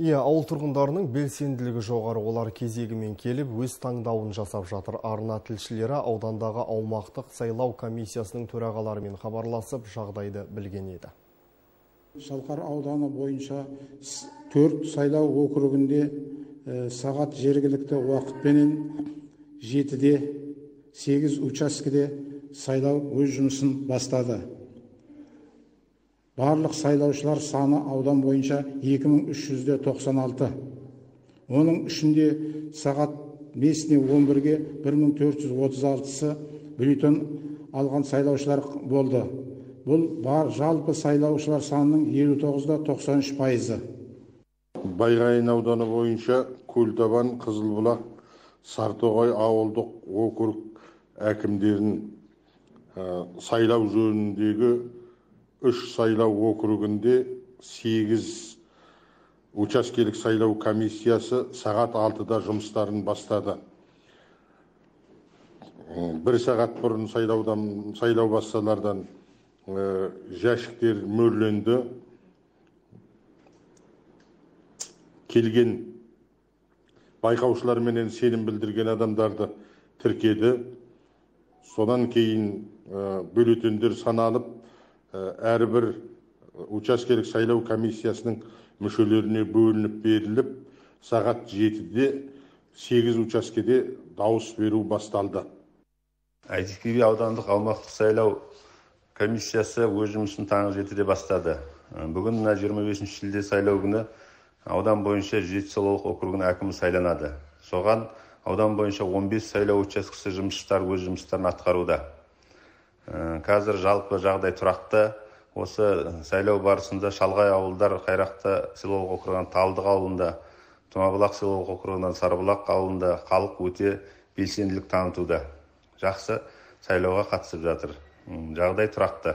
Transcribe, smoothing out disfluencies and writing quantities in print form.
Ауыл тұрғындарының белсенділігі жоғары, олар кезегімен келіп, өз таңдауын жасап жатыр. Арна тілшілері аудандағы аумақтық сайлау комиссиясының төрағаларымен хабарласып, жағдайды білген еді. Шалқар ауданы бойынша 4 сайлау округінде сағат жергілікті уақытпенен 7-де 8 учаскеде сайлау өз жұмысын бастады. Барлық сайлаушылар саны аудан бойынша 2396. Оның ішінде сағат 5-11-ге 1436-сы бюллетен алған сайлаушылар болды. Бұл жалпы сайлаушылар санының 59,93%. Байғайын ауданы бойынша Көлтабан, Қызылбұлақ, Сартоғай ауылдық округ әкімдерін сайлау жөніндегі 3 сайлау округінде 8 учаскелік сайлау комиссиясы сағат 6-да жұмыстарын бастады. 1 сағат бұрын сайлау басталардан жәшіктер мөрленді. Келген байқаушылар менен сенім білдірген адамдарды тіркеді. Содан кейін бюллетендер саналып, әрбір учаскелік сайлау комиссиясының мүшелеріне бөлініп беріліп, сағат 7-де 8 учаскеде дауыс беру басталды. Әйтеке аудандық аумақтық сайлау комиссиясы өз жұмысын таңғы 7-де бастады. Бүгін 25 шілде сайлау күні аудан бойынша Жетісулық округінің әкімі сайланады. Соған аудан бойынша 15 сайлау учаскесі жұмысшылар өз жұмыстарын атқаруда. Қазір жалпы жағдай тұрақты. Осы сайлау барысында шалғай ауылдар Қайрақты селолық округынан Талдық ауылында, Тұмабұлақ селолық округынан Сарыбұлақ ауылында халық өте белсенділік танытуда. Жақсы сайлауға қатысып жатыр. Жағдай тұрақты.